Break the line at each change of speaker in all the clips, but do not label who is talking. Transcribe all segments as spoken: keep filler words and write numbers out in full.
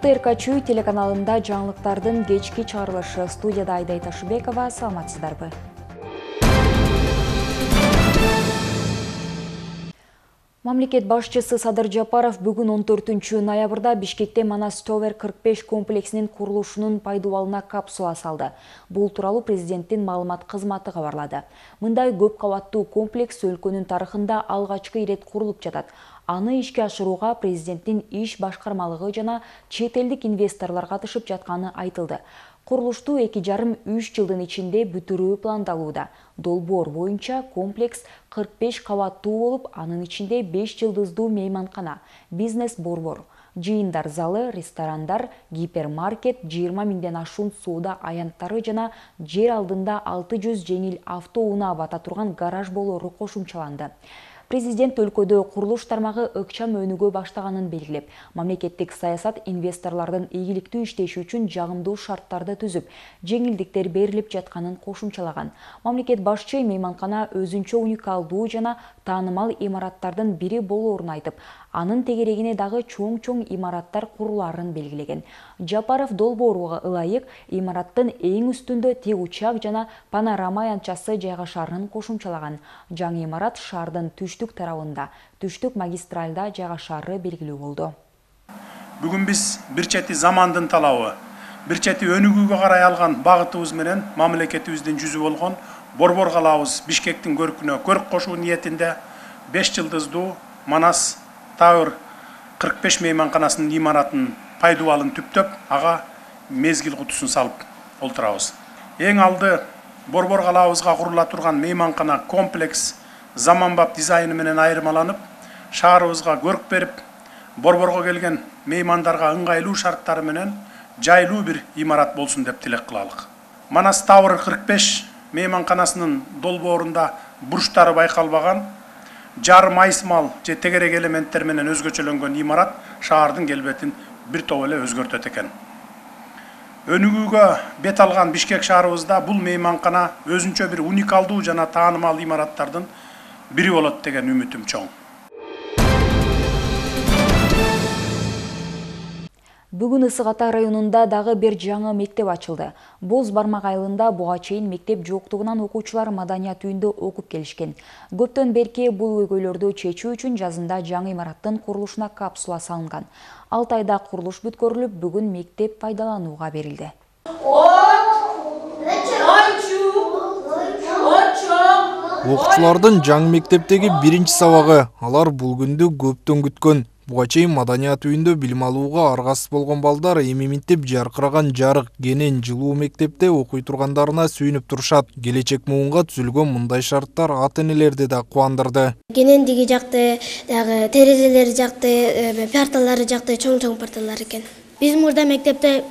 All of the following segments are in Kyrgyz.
Урматтуу эр ка чүй телеканалында жаңылыктардын кечки чыгарылышы. Студияда Айдай Ташыбекова. Саламатсыздарбы? Мамлекет башчысы Садыр Жапаров бүгүн он төртүнчү ноябрда Бишкекте Манас Товер кырк беш комплексинин курулушунун пайдубалына капсула салды. Бул тууралуу президенттин маалымат кызматы кабарлады. Мындай көп кабаттуу комплекс өлкөнүн тарыхында алгачкы ирет курулуп жатат. Аны ишке ашырууга президенттин иш башкармалыгы жана чет элдик инвесторлор катышып жатканы айтылды. Курулушту эки жарым үч жылдын ичинде бүтүрүү пландалууда. Долбоор боюнча комплекс кырк беш кабаттуу болуп, анын ичинде беш жылдыздуу мейманкана, бизнес-борбор, жыйындар залы, ресторандар, гипермаркет, жыйырма миңден ашуун соода аянттары жана жер алдында алты жүз жеңил автоунаа бата турган гараж болоору кошумчаланды. Президент өлкөдө курулуш тармагы ыкчам өнүгө баштаганын белгилеп, мамлекеттик саясат инвесторлордун ийгиликтүү иштеши үчүн жагымдуу шарттарды түзүп, жеңилдиктер берилип жатканын кошумчалаган. Мамлекет башчы мейманкана өзүнчө уникалдуу жана таанымал имараттардын бири болоорун айтып, анын тегерегине дагы чоң-чоң имараттар курулаарын белгилеген. Жапаров долбоорго ылайык имараттын эң үстүндө тик учак жана панорама аянтчасы жайгашарын кошумчалаган. Жаңы имарат шаардын түштүк тарабында, түштүк магистральда жайгашары белгилүү болду.
Бүгүн биз бир чети замандын талабы, бир чети өнүгүүгө карай алган багытыбыз менен мамлекетибиздин жүзү болгон Борбор калабыз Бишкектин көркүнө көрк кошуу ниетинде беш жылдыздуу Манас Товер кырк беш мейманканасынын имаратын пайдубалын түптөп, ага мезгил кутусун салып олтурабыз. Эң алды Борбор калабызга курула турган мейманкана комплекс заманбап дизайны менен айырмаланып, шаарыбызга көрк берип, Борборго келген меймандарга ыңгайлуу шарттары менен жайлуу бир имарат болсун деп тилек кылалык. Манас Товер кырк беш мейманканасынын долбоорунда бурчтары байкалбаган, жарым айсмал же тегерек элементтер менен өзгөчөлөнгөн имарат шаардын келбетин бир топ эле өзгөртөт экен. Өнүгүүгө бет алган Бишкек шаарыбызда бул мейманкана өзүнчө бир уникалдуу жана таанымал имараттардын бири болот деген үмүтүм чоң.
Бүгүн Ысык Ата районунда дагы бир жаңы мектеп ачылды. Боз Бармак айылында буга чейин мектеп жоктугунан окуучулар маданият үйүндө окуп келишкен. Көптөн берки бул көйгөйлөрдү чечүү үчүн жазында жаңы имараттын курулушуна капсула салынган. алты айда курулуш бүткөрүлүп, бүгүн мектеп пайдаланууга берилди.
Окуучулардын жаңы мектептеги биринчи сабагы, алар бул күндү көптөн күткөн. Буга чейин маданият үйүндө билим алууга аргасыз болгон балдар эми минтип жаркыраган жарык, кенен, жылуу мектепте окуй тургандарына сүйүнүп турушат. Келечек муунга түзүлгөн мындай шарттар ата-энелерди да кубандырды.
Кенендиги жакты, дагы терезелери жакты, парталары жакты, чоң-чоң парталар экен. Биз мурда мектепте,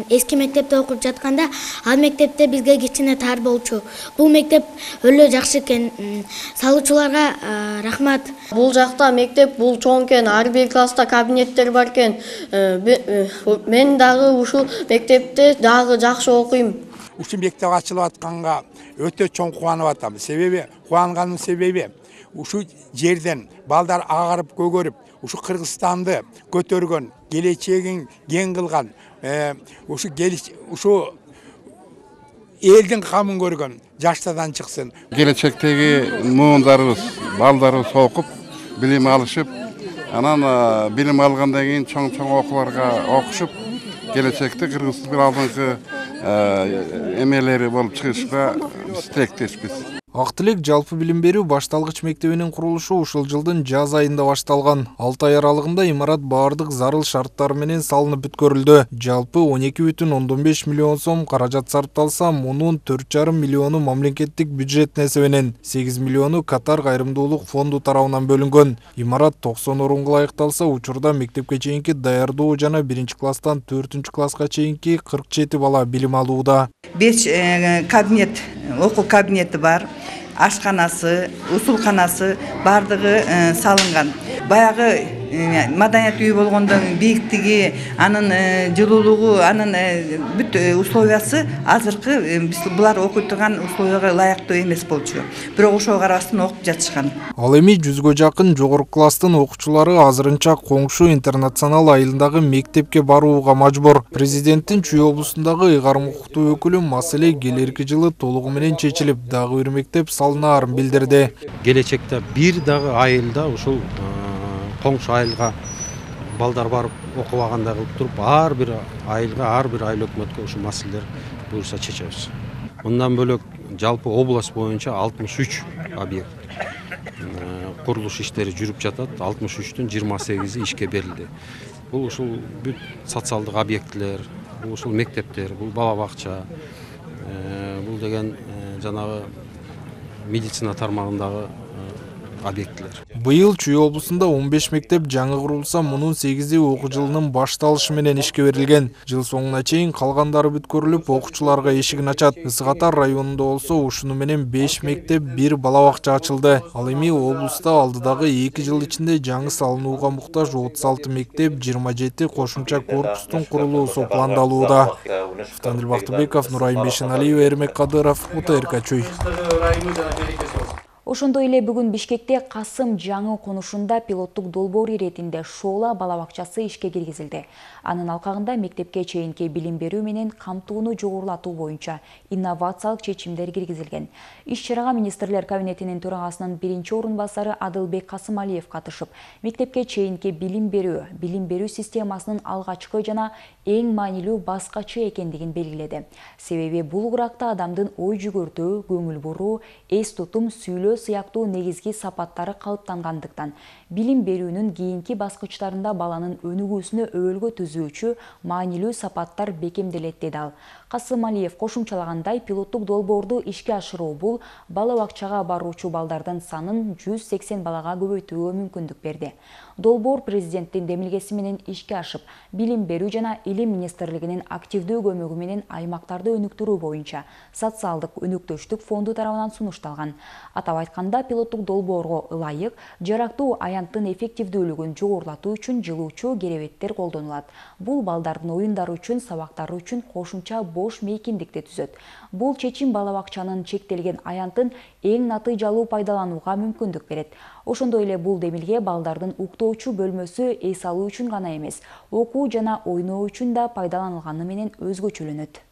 эски мектепте окуп жатканда, ал мектепте бизге кичине тар болчу. Бул мектеп өлө жакшы экен. Салуучуларга рахмат.
Бул жакта мектеп бул чоң экен, ар бир класста кабинеттер бар экен. Мен дагы ушул мектепте дагы жакшы окуйм.
Ушул мектеп ачылып атканга өтө чоң кубанып атам. Себеби, кубанганымдын себеби ушул жерден балдар агарып көгөрүп, ушу Кыргызстанды көтөргөн, келечегин кең кылган, ушу ушу элдин камын көргөн жаштардан чыксын.
Келечектеги муундарыбыз, балдарыбыз окуп, билим алышып, анан билим алгандан кийин чоң-чоң окууларга окушуп, келечекте Кыргыздын алдыңкы эмелери болуп чыгышка биз тилектешпиз.
Ак Тилек жалпы билим берүү башталгыч мектебинин курулушу ушул жылдын жаз айында башталган. алты ай аралыгында имарат баардык зарыл шарттар менен салынып бүткөрүлдү. Жалпы он эки бүтүн ондон беш миллион сом каражат сарпталса, мунун төрт жарым миллиону мамлекеттик бюджет эсебинен, сегиз миллиону Катар кайрымдуулук фонду тарабынан бөлүнгөн. Имарат токсон орунга ылайыкталса, учурда мектепке чейинки даярдоо жана биринчи класстан төртүнчү класска чейинки кырк жети бала билим алууда.
беш кабинет, окуу кабинети бар. Ашканасы, усулканасы бардыгы салынган. Баягы маданият үйү болгондон бийиктиги, анын жылуулугу, анын бүт условиясы азыркы биз булар окуй турган условияга ылайыктуу эмес болчу. Бирок ошого карабастан окуп жатышкан.
Ал эми жүзгө жакын жогорку класстын окуучулары азырынча коңшу интернационал айылындагы мектепке барууга мажбур. Президенттин Чүй облусундагы ыйгарым укуктуу өкүлү маселе келерки жылы толугу менен чечилип, дагы бир мектеп салынаарын билдирди.
Келечекте бир дагы айылда ушул коңшу айылга балдар барып окубагандай кылып туруп, ар бир айылга, ар бир айыл өкмөткө ушул маселелер буюрса чечебиз. Мындан бөлөк жалпы область боюнча алтымыш үч объект курулуш иштери жүрүп жатат. алтымыш үчтүн жыйырма сегизи ишке берилди. Бул ушул бүт социалдык объектилер, бул ушул мектептер, бул бала бакча, бул деген жанагы медицина тармагындагы объектилер.
Быйыл Чүй облусунда он беш мектеп жаңы курулса, мунун сегизи окуу жылынын башталышы менен ишке берилген. Жыл соңуна чейин калгандары бүткөрүлүп, окуучуларга эшигин ачат. Ысык Атар районунда болсо, ушуну менен беш мектеп, бир бала бакча ачылды. Ал эми облуста алдыдагы эки жыл ичинде жаңы салынууга муктаж отуз алты мектеп, жыйырма жети кошумча корпустун курулуусу пландалууда. Фтандил Бактыбеков, Нурайым Бешеналиев, Эрмек Кадыров, О Т Р К Чүй.
Ошондой эле бүгүн Бишкекте Касым жаңы конушунда пилоттук долбоор иретинде Шоола бала бакчасы ишке киргизилди. Анын алкагында мектепке чейинки билим берүү менен камтууну жогорулатуу боюнча инновациялык чечимдер киргизилген. Иш-чарага министрлер кабинетинин төрагасынын биринчи орун басары Адылбек Касымалиев катышып, мектепке чейинки билим берүү, билим берүү системасынын алгачкы жана эң маанилүү баскычы экендигин белгиледи. Себеби бул куракта адамдын ой жүгөртүү, көңүл буруу, эс тутум, сүйлөө сыяктуу негизги сапаттары калыптангандыктан билим берүүнүн кийинки баскычтарында баланын өнүгүүсүнө өбөлгө түзүүчү маанилүү сапаттар бекемделет деди ал. Касымалиев кошумчалагандай, пилоттук долбоорду ишке ашыруу бул бала бакчага баруучу балдардын санын жүз сексен балага көбөйтүүгө мүмкүндүк берди. Долбоор президенттин демилгеси менен ишке ашып, билим берүү жана илим министрлигинин активдүү көмөгү менен аймактарды өнүктүрүү боюнча социалдык өнүктүштүк фонду тарабынан сунушталган. Атап айтканда, пилоттук долбоорго ылайык жарактуу аянттын эффективдүүлүгүн жогорулатуу үчүн жылуучу керебеттер колдонулат. Бул балдардын оюндары үчүн, сабактары үчүн кошумча бош мейкиндикти түзөт. Бул чечим бала бакчанын чектелген аянтын эң натыйжалуу пайдаланууга мүмкүндүк берет. Ошондой эле бул демилге балдардын уктоочу бөлмөсү эс алуу үчүн гана эмес, окуу жана ойноо үчүн да пайдаланылганы менен өзгөчөлөнөт.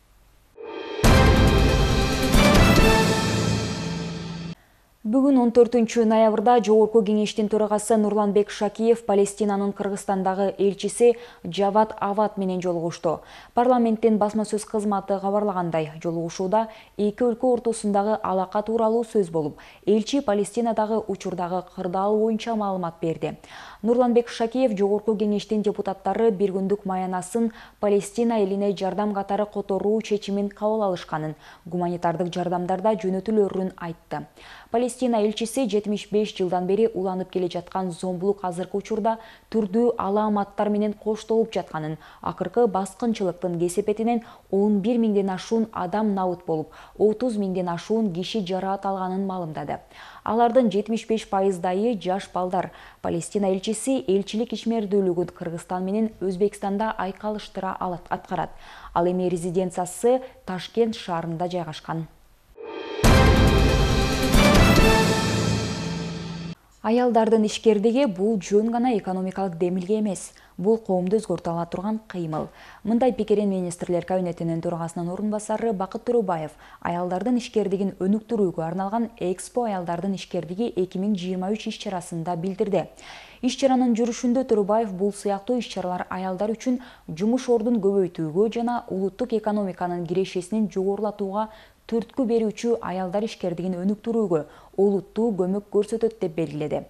Бүгүн он төртүнчү ноябрда Жогорку кеңештин төрагасы Нурланбек Шакиев Палестинанын Кыргызстандагы элчиси Жавад Ават менен жолугушту. Парламенттин басма сөз кызматы кабарлагандай, жолугушууда эки өлкө ортосундагы алака тууралуу сөз болуп, элчи Палестинадагы учурдагы кырдаал боюнча маалымат берди. Нурланбек Шакиев Жогорку кеңештин депутаттары бир күндүк маянасын Палестина элине жардам катары которуу чечимин кабыл алышканын, гуманитардык жардамдарда жөнөтүлөрүн айтты. Палестина элчиси жетимиш беш жылдан бери уланып келе жаткан зомбулук азыркы учурда түрдүү алааматтар менен коштолуп жатканын, акыркы баскынчылыктын кесепетинен он бир миңден ашуун адам набыт болуп, отуз миңден ашуун киши жараат алганын маалымдады. Алардын жетимиш беш пайыздайы жаш балдар. Палестина элчиси элчилик ишмердүүлүгүн Кыргызстан менен Өзбекстанда айкалыштыра аткарат. Ал эми резиденциясы Ташкент шаарында жайгашкан. Аялдардын ишкердиги бул жөн гана экономикалык демилге эмес, бул коомду өзгөртө ала турган кыймыл. Мындай пикирин министрлер кабинетинин төрагасынын орун басары Бакыт Төрөбаев аялдардын ишкердигин өнүктүрүүгө арналган Экспо аялдардын ишкердиги эки миң жыйырма үч иш-чарасында билдирди. Иш-чаранын жүрүшүндө Төрөбаев бул сыяктуу иш-чаралар аялдар үчүн жумуш ордун көбөйтүүгө жана улуттук экономиканын кирешесин жогорулатууга түрткү берүүчү аялдар ишкердигин өнүктүрүүгө олуттуу көмөк көрсөтөт деп белгиледи.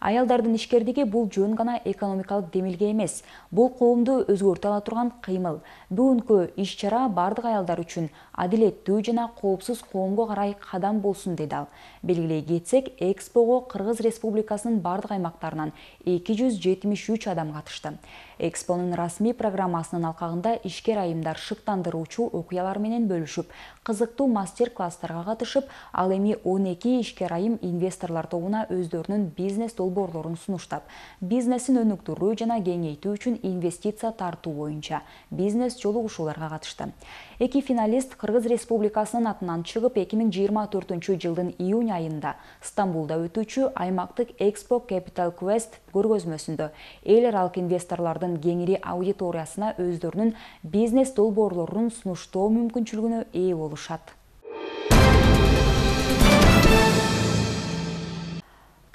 Аялдардын ишкердиги бул жөн гана экономикалык демилге эмес, бул коомду өзгөртө ала турган кыймыл. Бүгүнкү иш-чара бардык аялдар үчүн адилеттүү жана коопсуз коомго карай кадам болсун деди ал. Белгилей кетсек, Экспого Кыргыз Республикасынын бардык аймактарынан эки жүз жетимиш үч адам катышты. Экспонун расмий программасынын алкагында ишкер айымдар шыктандыруучу окуялар менен бөлүшүп, кызыктуу мастер-класстарга катышып, ал эми он эки ишкер айым инвесторлар тобуна өздөрүнүн бизнес долбоорлорун сунуштап, бизнесин өнүктүрүү жана кеңейтүү үчүн инвестиция тартуу боюнча бизнес жолугушууларга катышты. Эки финалист Кыргыз Республикасынын атынан чыгып, эки миң жыйырма төртүнчү жылдын июнь айында Стамбулда өтүүчү аймактык Expo Capital Quest көргөзмөсүндө эл аралык инвесторлордун кеңири аудиториясына өздөрүнүн бизнес долбоорлорун сунуштоо мүмкүнчүлүгүнө ээ болушат.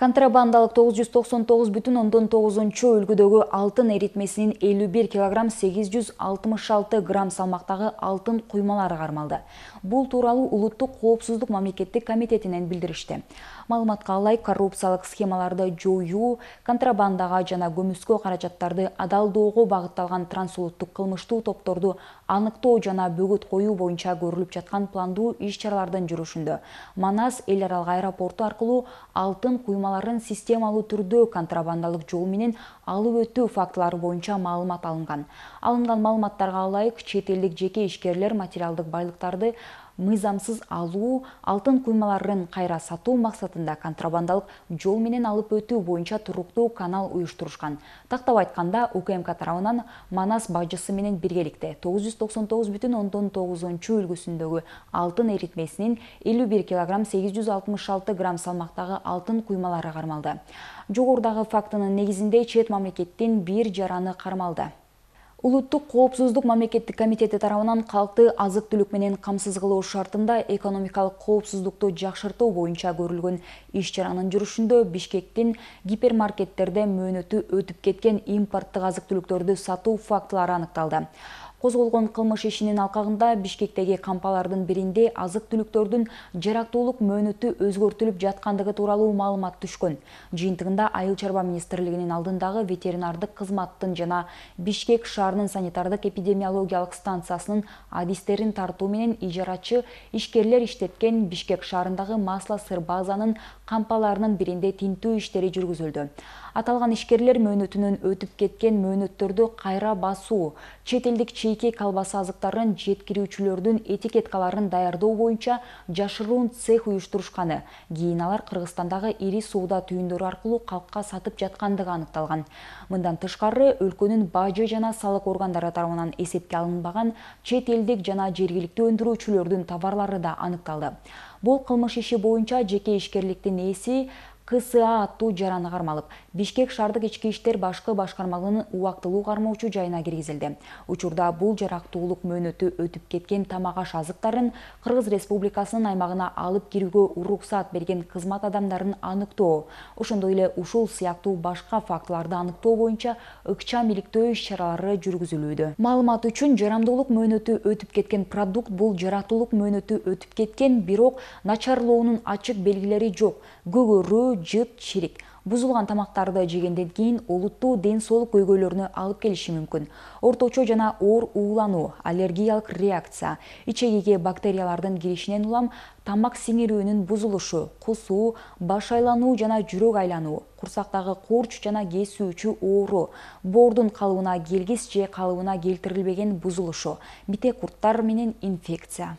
Контрабандалык тогуз жүз токсон тогуз бүтүн ондон тогузунчу үлгүдөгү алтын эритмесинин элүү бир килограмм сегиз жүз алтымыш алты грамм салмактагы алтын куймалары кармалды. Бул тууралуу Улуттук коопсуздук мамлекеттик комитетинен билдиришти. Маалыматка ылайык, коррупциялык схемаларды жоюу, контрабандага жана көмүскө каражаттарды адалдоого багытталган трансулуттук кылмыштуу топторду аныктоо жана бөгөт коюу боюнча көрүлүп жаткан пландуу иш-чаралардын жүрүшүндө Манас эл аралык аэропорту аркылуу алтын куймаларын системалуу түрдө контрабандалык жол менен алып өтүү фактылары боюнча маалымат алынган. Алынган маалыматтарга ылайык, чет элдик жеке ишкерлер материалдык байлыктарды мыйзамсыз алуу, алтын куймаларын кайра сатуу максатында контрабандалык жол менен алып өтүү боюнча туруктуу канал уюштурушкан. Тактап айтканда, УКМК тарабынан Манас бажысы менен биргеликте тогуз жүз токсон тогуз бүтүн ондон тогузунчу үлгүсүндөгү алтын эритмесинин элүү бир килограмм сегиз жүз алтымыш алты грамм салмактагы алтын куймалары кармалды. Жогорудагы фактынын негизинде чет мамлекеттин бир жараны кармалды. Улуттук коопсуздук мамлекеттик комитети тарабынан калкты азык-түлүк менен камсыз кылуу шартында экономикалык коопсуздукту жакшыртуу боюнча көрүлгөн иш-чаранын жүрүшүндө Бишкектин гипермаркеттерде мөөнөтү өтүп кеткен импорттук азык-түлүктөрдү сатуу фактылары аныкталды. Козголгон кылмыш ишинин алкагында Бишкектеги кампалардын биринде азык-түлүктөрдүн жарактуулук мөөнөтү өзгөртүлүп жаткандыгы тууралуу маалымат түшкөн. Жыйынтыгында Айыл чарба министрлигинин алдындагы ветеринардык кызматтын жана Бишкек шаарынын санитардык эпидемиологиялык станциясынын адистерин тартуу менен ижарачы ишкерлер иштеткен Бишкек шаарындагы Масло-сыр базанын кампаларынын биринде тинтүү иштери жүргүзүлдү. Аталган ишкерлер мөөнөтүнөн өтүп кеткен мөөнөттөрдү кайра басуу, чет элдик чейке колбаса азыктарын жеткирүүчүлөрдүн этикеткаларын даярдоо боюнча жашыруун цех уюштурушканы, кийин алар Кыргызстандагы ири соода түйүндөрү аркылуу калкка сатып жаткандыгы аныкталган. Мындан тышкары, өлкөнүн бажы жана салык органдары тарабынан эсепке алынбаган чет элдик жана жергиликтүү өндүрүүчүлөрдүн товарлары да аныкталды. Бул кылмыш иши боюнча жеке ишкерликтин ээси К С А аттуу жараны кармалып, Бишкек шаардык ички иштер башкы башкармалыгынын убактылуу кармоочу жайына киргизилди. Учурда бул жарактуулук мөөнөтү өтүп кеткен тамак-аш азыктарын Кыргыз Республикасынын аймагына алып кирүүгө уруксаат берген кызмат адамдарын аныктоо, ошондой эле ушул сыяктуу башка фактыларды аныктоо боюнча ыкчам иликтөө иш-чаралары жүргүзүлүүдө. Маалымат үчүн, жарамдуулук мөөнөтү өтүп кеткен продукт бул жарактуулук мөөнөтү өтүп кеткен, бирок начарлоонун ачык белгилери жок. Көгөрүү, жыт, чирик. Бузулган тамактарды жегенден кийин олуттуу ден соолук көйгөйлөрүнө алып келиши мүмкүн. Орточо жана оор уулануу, аллергиялык реакция, ичегиге бактериялардын киришинен улам тамак сиңирүүнүн бузулушу, кусуу, баш айлануу жана жүрөк айлануу, курсактагы куурч жана кесүүчү оору, боордун калыбына келгис же калыбына келтирилбеген бузулушу, бите курттар менен инфекция.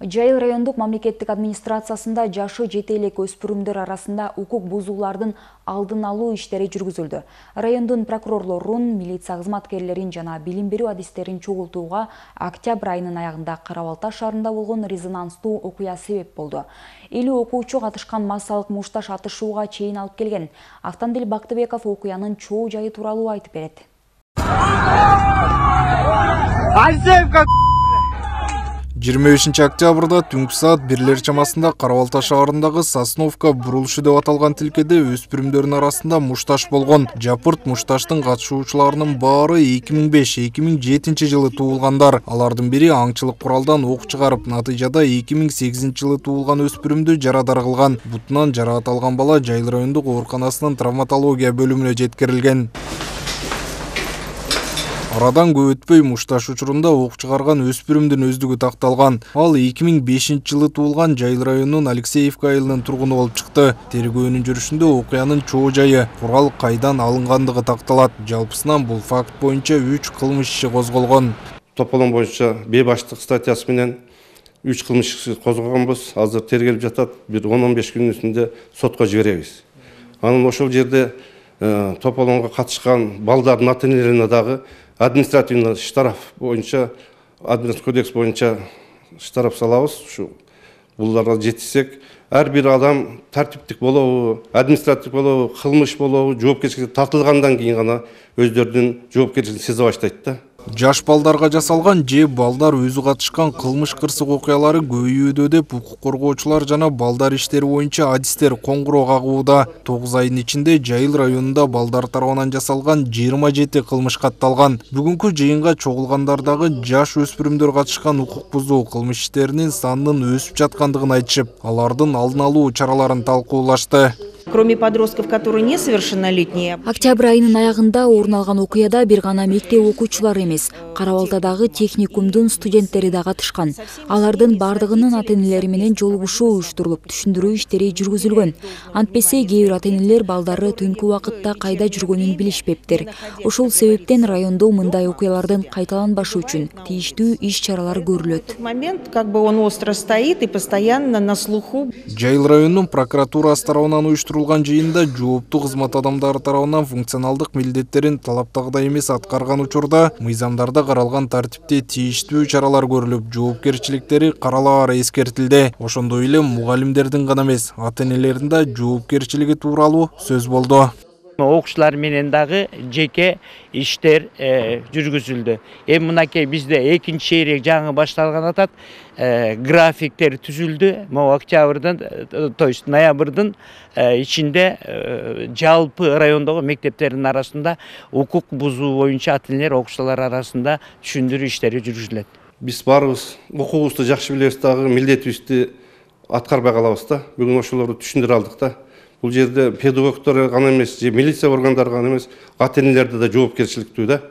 Жайыл райондук мамлекеттик администрациясында жашы жете элек өспүрүмдөр арасында укук бузуулардын алдын алуу иштери жүргүзүлдү. Райондун прокурорлорун, милиция кызматкерлерин жана билим берүү адистерин чогултууга октябрь айынын аягында Кара-Балта шаарында болгон резонанстуу окуя себеп болду. элүү окуучу катышкан массалык мушташ атышууга чейин алып келген. Автандил Бактыбеков окуянын чоо жайы тууралуу айтып берет.
жыйырма бешинчи октябрда түнкү саат бирлер чамасында Кара-Балта шаарындагы Сосновка бурулушу деп аталган тилкеде өспүрүмдөрдүн арасында мушташ болгон. Жапырт мушташтын катышуучуларынын баары эки миң беш — эки миң жетинчи жылы туулгандар. Алардын бири аңчылык куралдан ок чыгарып, натыйжада эки миң сегизинчи жылы туулган өспүрүмдү жарадар кылган. Бутунан жараат алган бала Жайыл райондук ооруканасынын травматология бөлүмүнө жеткирилген. Арадан көп өтпөй мушташ учурунда ок чыгарган өспүрүмдүн өздүгү такталган. Ал эки миң бешинчи жылы туулган Жайыл районунун Алексеевка айылынын тургуну болуп чыкты. Тергөөнүн жүрүшүндө окуянын чоо жайы, курал кайдан алынгандыгы такталат. Жалпысынан бул факт боюнча үч кылмыш иши козголгон.
Тополон боюнча бейбаштык статьясы менен үч кылмыш иши козгогонбуз. Азыр тергелип жатат. Бир он он беш күнүн ичинде сотко жиберебиз. Анын ошол жерде тополонго катышкан балдардын ата-энелерине дагы административный штраф боюнча, административный кодекс боюнча штраф салабыз. Ушу буларга жетишсек, ар бир адам тартиптик болобу, административдик болобу, кылмыш болобу, жоопкерчиликке тартылгандан кийин гана өздөрүнүн жоопкерчилигин сезе баштайт да.
Жаш балдарга жасалган же балдар өзү катышкан кылмыш кырсык окуялары көбөйүүдө деп укук коргоочулар жана балдар иштери боюнча адистер коңгуроо кагууда. тогуз айдын ичинде Жайыл районунда балдар тарабынан жасалган жыйырма жети кылмыш катталган. Бүгүнкү жыйынга чогулгандардагы жаш өспүрүмдөр катышкан укук бузуу кылмыш иштеринин санынын өсүп жаткандыгын айтышып, алардын алдын алуу чараларын талкуулашты.
Кроме подростков, которые несовершеннолетние.
Октябрь айынын аягында орун алган окуяда бир гана мектеп окуучулары эмес, Кара Балтадагы техникумдун студенттери да катышкан. Алардын бардыгынын ата-энелери менен жолугушуу уюштурулуп, түшүндүрүү иштери жүргүзүлгөн. Антпесе кээ бир ата-энелер балдары түнкү убакытта кайда жүргөнүн билишпептир. Ошол себептен райондо мындай окуялардын кайталанбашы үчүн тийиштүү иш-чаралар көрүлөт.
Момент, как бы он остро стоит и постоянно на слуху.
Жайыл районунун прокуратурасы тарабынан уюштурулган жыйында жооптуу кызмат адамдары тарабынан функционалдык милдеттерин талаптагыдай эмес аткарган учурда мыйзамдарда каралган тартипте тийиштүү чаралар көрүлүп, жоопкерчиликтери каралаары эскертилди. Ошондой эле мугалимдердин гана эмес, ата-энелердин да жоопкерчилиги тууралуу сөз болду.
Окуучулар менен дагы жеке иштер жүргүзүлдү. Эми мынакей бизде экинчи шейрек жаңы башталган атат. Графиктер түзүлдү. Могу октябрдын, то есть ноябрдын ичинде жалпы райондогу мектептердин арасында укук бузуу боюнча ата-энелер окуучулар арасында түшүндүрүү иштери жүргүзүлөт.
Биз барыбыз окуубузду жакшы билебиз дагы, милдетибизди аткарбай калабыз да. Бүгүн ошолорду түшүндүрө алдык да. Бул жерде педагогдор гана эмес, же милиция органдары гана эмес, ата-энелерде да жоопкерчиликтүү да.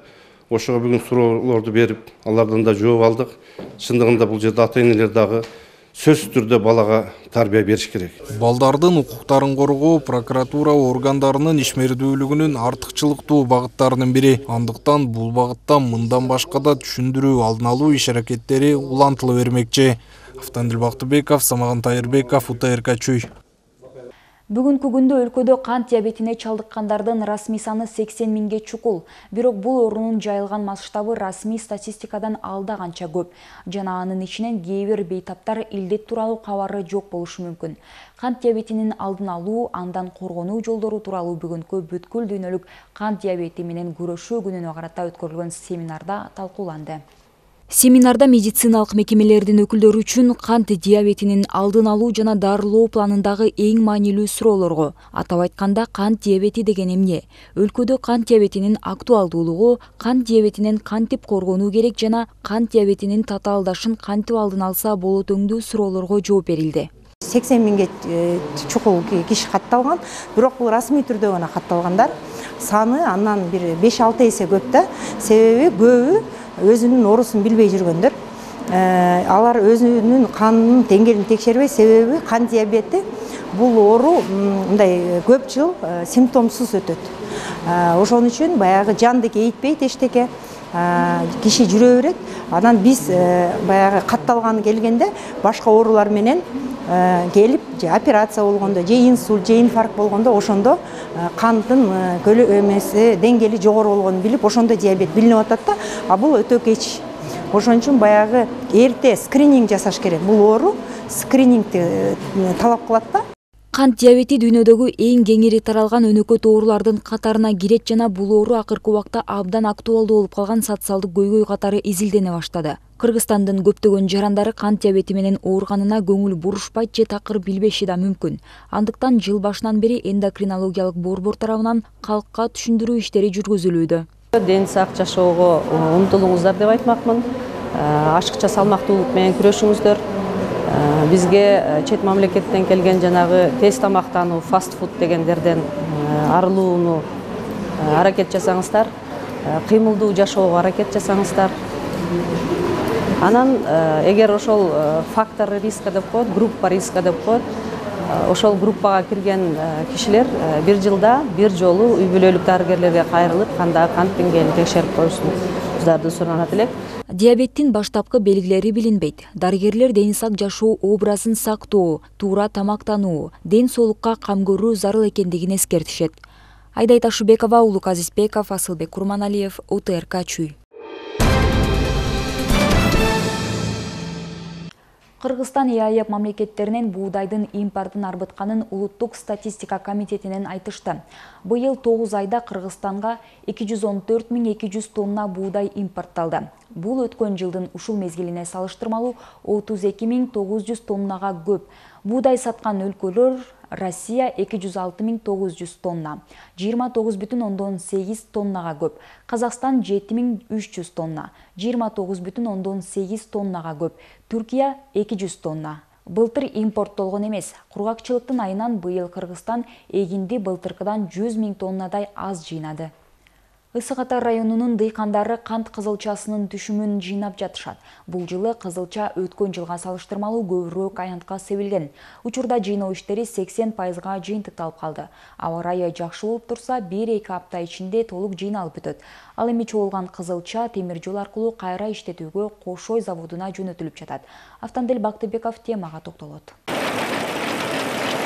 Ошого бүгүн суроолорду берип, алардан да жооп алдык. Чындыгында бул жерде ата-энелер дагы сөзсүз түрдө балага тарбия бериш керек.
Балдардын укуктарын коргоо прокуратура органдарынын ишмердүүлүгүнүн артыкчылыктуу багыттарынын бири. Андыктан бул багытта мындан башка да түшүндүрүү, алдын алуу иш-аракеттери улантыла бермекчи. Автандил Бактыбеков, Самаган Тайырбеков, УТРК Чүй.
Бүгүнкү күндө өлкөдө кант диабетине чалдыккандардын расмий саны сексен миңге чукул. Бирок бул оорунун жайылган масштабы расмий статистикадан алда канча көп. Жана анын ичинен кээ бир бейтаптар илдет тууралуу кабары жок болушу мүмкүн. Кант диабетинин алдын алуу, андан коргонуу жолдору тууралуу бүгүнкү бүткүл дүйнөлүк кант диабети менен күрөшүү күнүнө карата өткөрүлгөн семинарда талкууланды. Семинарда медициналык мекемелердин өкүлдөрү үчүн кант диабетинин алдын алуу жана дарылоо планындагы эң маанилүү суроолорго, атап айтканда кант диабети деген эмне, өлкөдө кант диабетинин актуалдуулугу, кант диабетинен кантип коргонуу керек жана кант диабетинин татаалдашын кантип алдын алса болот өңдүү суроолорго жооп берилди.
сексен миңге чукул киши катталган, бирок бул расмий түрдө гана катталгандар. Саны андан бир беш алты эсе көп да. Себеби көбү өзүнүн оорусун билбей жүргөндөр. Алар өзүнүн канынын деңгээлин текшербей, себеби кант диабети бул оору мындай көп жыл симптомсуз өтөт. Ошон үчүн баягы жанды кейитпейт эчтеке, киши жүрө берет. Анан биз баягы катталганы келгенде башка оорулар менен келип, же операция болгондо, же инсульт, же инфаркт болгондо ошондо кандын эмеси деңгээли жогору болгонун билип, ошондо диабет билинип атат да, а бул өтө кеч. Ошон үчүн баягы эрте скрининг жасаш керек. Бул оору скринингди талап кылат да.
Кант диабети дүйнөдөгү эң кеңири таралган өнөкөт оорулардын катарына кирет жана бул оору акыркы убакта абдан актуалдуу болуп калган социалдык көйгөй катары изилдене баштады. Кыргызстандын көптөгөн жарандары кант диабети менен ооруганына көңүл бурушпайт же такыр билбеши да мүмкүн. Андыктан жыл башынан бери эндокринологиялык борбор тарабынан калкка түшүндүрүү иштери жүргүзүлүүдө.
Ден сак жашоого умтулуңуздар деп айтмакмын. Ашыкча салмактуулук менен күрөшүңүздөр. Бизге чет мамлекеттен келген жанагы тез тамактануу, фаст фуд дегендерден арылууну аракет жасаңыздар. кыймылдуу жашоого аракет жасаңыздар. Анан эгер ошол фактор риска деп коет, группа риска деп коет, ошол группага кирген кишилер бир жылда бир жолу үй бүлөлүк дарыгерлерге кайрылып, кандагы кант деңгээлин текшерип коюшуңуздарды суранат элек.
Диабеттин баштапкы белгилери билинбейт. Дарыгерлер дени сак жашоо образын сактоо, туура тамактануу, ден соолукка кам көрүү зарыл экендигин эскертишет. Айдай Ташыбекова, Улук Азизбеков, Асылбек Курманалиев, О Т Р К Чүй. Кыргызстан Е А Е мамлекеттеринен буудайдын импортун арбытканын Улуттук статистика комитетинен айтышты. Быйыл тогуз айда Кыргызстанга эки жүз он төрт миң эки жүз тонна буудай импортталды. Бул өткөн жылдын ушул мезгилине салыштырмалуу отуз эки миң тогуз жүз тоннага көп. Буудай саткан өлкөлөр: Россия эки жүз алты миң тогуз жүз тонна, жыйырма тогуз бүтүн ондон сегиз тоннага көп. Казакстан жети миң үч жүз тонна, жыйырма тогуз бүтүн ондон сегиз тоннага көп. Түркия эки жүз тонна. Былтыр импорттолгон эмес. Кургакчылыктын айынан быйыл Кыргызстан эгинди былтыркыдан жүз миң тоннадай аз жыйнады. Ысык Ата районунун дыйкандары кант кызылчасынын түшүмүн жыйнап жатышат. Бул жылы кызылча өткөн жылга салыштырмалуу көбүрөөк аянтка себилген. Учурда жыйноо иштери сексен пайызга жыйынтыкталып калды. Аба ырайы жакшы болуп турса, бир-эки апта ичинде толук жыйналып бүтөт. Ал эми чогулган кызылча темир жол аркылуу кайра иштетүүгө Кошой заводуна жөнөтүлүп жатат. Автандель Бактыбеков темага токтолот.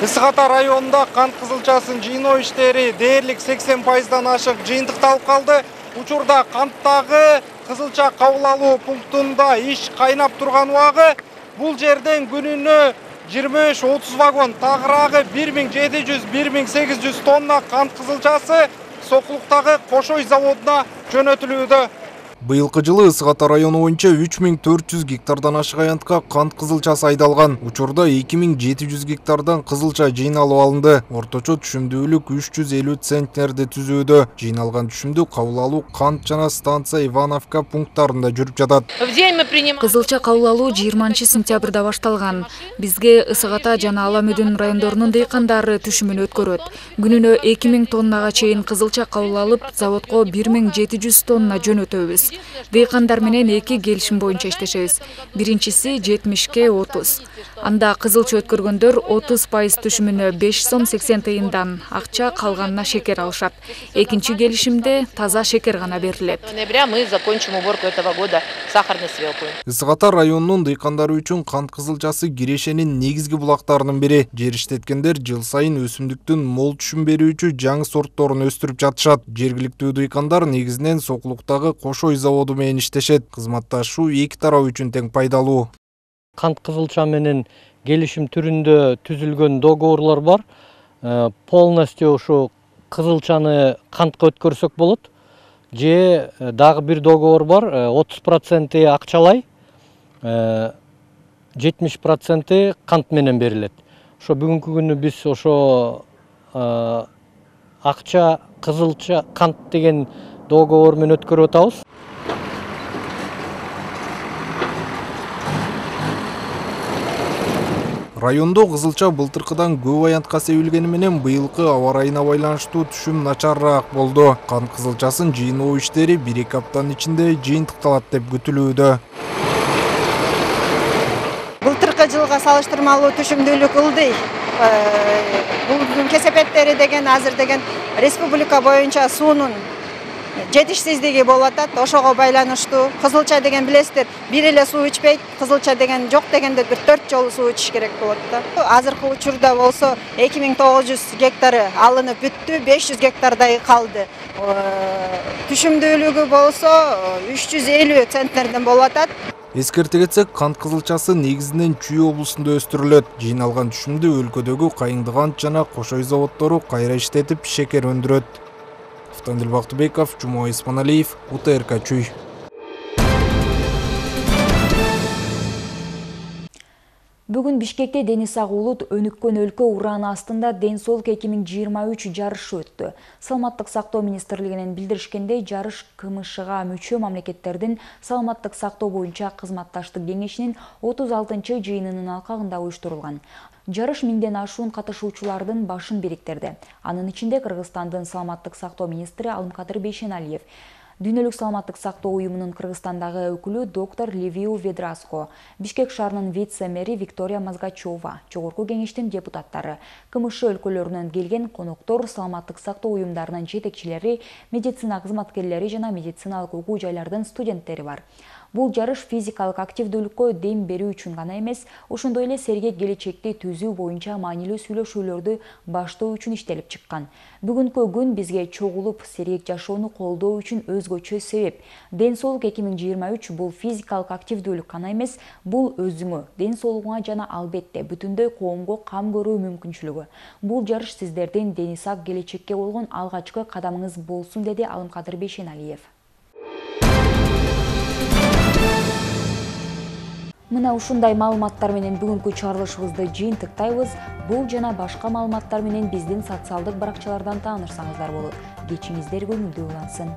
Ысык Ата районунда кант кызылчасын жыйноо иштери дээрлик сексен пайыздан ашык жыйынтыкталып калды. Учурда канттагы кызылча кабыл алуу пунктунда иш кайнап турган убагы. Бул жерден күнүнө жыйырма беш отуз вагон, тагыраагы бир миң жети жүз — бир миң сегиз жүз тонна кант кызылчасы Сокулуктагы Кошой заводуна жөнөтүлүүдө. Быйылкы жылы Ысык Ата району боюнча үч миң төрт жүз гектардан ашык аянтка кант кызылчасы айдалган. Учурда эки миң жети жүз гектардан кызылча жыйналып алынды. Орточо түшүмдүүлүк үч жүз элүү центнерди түзүүдө. Жыйналган түшүмдү кабыл алуу кант жана станция Ивановка пункттарында жүрүп жатат.
Кызылча кабыл алуу жыйырманчы сентябрда башталган. Бизге Ысык Ата жана Ала Мүдүн райондорунун дыйкандары түшүмүн өткөрөт. Күнүнө эки миң тоннага чейин кызылча кабыл алып, заводко бир миң жети жүз тонна жөнөтөбүз. Дыйкандар менен эки келишим боюнча иштешебиз. Биринчиси жетимишке отуз. Анда кызылча өткөргөндөр отуз пайыз түшүмүнө беш сом сексен тыйындан акча, калганына шекер алышат. Экинчи келишимде таза шекер гана берилет.
Мы закончим уборку этого года сахарной свеклы.
Ысык Ата районунун дыйкандары үчүн кант кызылчасы кирешенин негизги булактарынын бири. Жер иштеткендер жыл сайын өсүмдүктүн мол түшүм берүүчү жаңы сортторун өстүрүп жатышат. Жергиликтүү дыйкандар негизинен Сокулуктагы Кошой заводу менен иштешет. Кызматташуу эки тарап үчүн тең пайдалуу.
Кант кызылча менен келишим түрүндө түзүлгөн договорлор бар. Полностью ушу кызылчаны кантка өткөрсөк болот. Же дагы бир договор бар, отуз проценти акчалай, жетимиш проценти кант менен берилет. Ошо бүгүнкү күнү биз ошо акча, кызылча, кант деген договор менен өткөрүп атабыз.
Райондо кызылча былтыркыдан көп аянтка себилгени менен быйылкы аба ырайына байланыштуу түшүм начарыраак болду. Кант кызылчасын жыйноо иштери бир-эки аптанын ичинде жыйынтыкталат деп күтүлүүдө.
Былтыркы жылга салыштырмалуу түшүмдүүлүк ылдый. Бул кесепеттери деген азыр деген республика боюнча суунун жетишсиздиги болуп атат. Ошого байланыштуу кызылча деген билесиздер, бир эле суу ичпейт. Кызылча деген жок дегенде бир төрт жолу суу ичиш керек болот да. Азыркы учурда болсо эки миң тогуз жүз гектары алынып бүттү, беш жүз гектардай калды. Түшүмдүүлүгү болсо үч жүз элүү центнерден болуп атат.
Эскерте кетсек, кант кызылчасы негизинен Чүй облусунда өстүрүлөт. Жыйналган түшүмдү өлкөдөгү Кайыңдыгант жана Кошой заводдору кайра иштетип шекер өндүрөт. Автандель Бактыбеков, Жумой Испаналиев, О Т Р К Чүй.
Бүгүн Бишкекте дени сак улут өнүккөн өлкө урааны астында ден соолук эки миң жыйырма үч жарышы өттү. Саламаттык сактоо министрлигинен билдиришкендей, жарыш К М Шга мүчө мамлекеттердин саламаттык сактоо боюнча кызматташтык кеңешинин отуз алтынчы жыйынынын алкагында уюштурулган. Жарыш миңден ашуун катышуучулардын башын бириктирди. Анын ичинде Кыргызстандын саламаттык сактоо министри Алымкадыр Бейшеналиев, Дүйнөлүк саламаттык сактоо уюмунун Кыргызстандагы өкүлү доктор Ливиу Ведраско, Бишкек шаарынын вице-мэри Виктория Мазгачева, Жогорку кеңештин депутаттары, КМШ өлкөлөрүнөн келген коноктор, саламаттык сактоо уюмдарынын жетекчилери, медицина кызматкерлери жана медициналык окуу жайлардын студенттери бар. Бул жарыш физикалык активдүүлүккө дем берүү үчүн гана эмес, ошондой эле сергек келечекти түзүү боюнча маанилүү сүйлөшүүлөрдү баштоо үчүн иштелип чыккан. Бүгүнкү күн бизге чогулуп, сергек жашоону колдоо үчүн өзгөчө себеп. Ден соолук эки миң жыйырма үч бул физикалык активдүүлүк гана эмес, бул өзүңө, ден соолугуңа жана албетте бүтүндөй коомго кам көрүү мүмкүнчүлүгү. Бул жарыш сиздердин дени сак келечекке болгон алгачкы кадамыңыз болсун, деди Алымкадыр Бейшеналиев. Мына ушундай маалыматтар менен бүгүнкү чыгарылышыбызды жыйынтыктайбыз. Бул жана башка маалыматтар менен биздин социалдык баракчалардан таанышсаңыздар болот. Кечиңиздер көңүлдүү улансын.